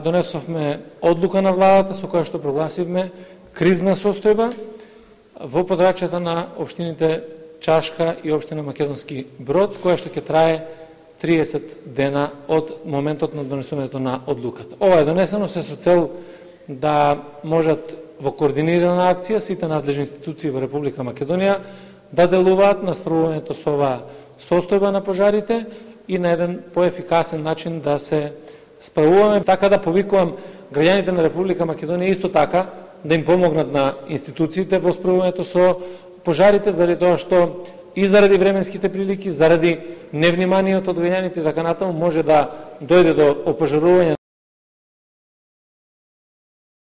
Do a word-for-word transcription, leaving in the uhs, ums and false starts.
Донесовме одлука на владата со која што прогласивме кризна состојба во подрачјата на општините Чашка и општина Македонски Брод, која што ќе трае триесет дена од моментот на донесувањето на одлуката. Ова е донесено се со цел да можат во координирана акција сите надлежни институции во Република Македонија да делуваат на справувањето со оваа состојба на пожарите и на еден поефикасен начин да се справуваме, така да повикувам граѓаните на Република Македонија исто така да им помогнат на институциите во справувањето со пожарите, заради тоа што и заради временските прилики, заради невниманието од граѓаните, така натаму може да дојде до опожарување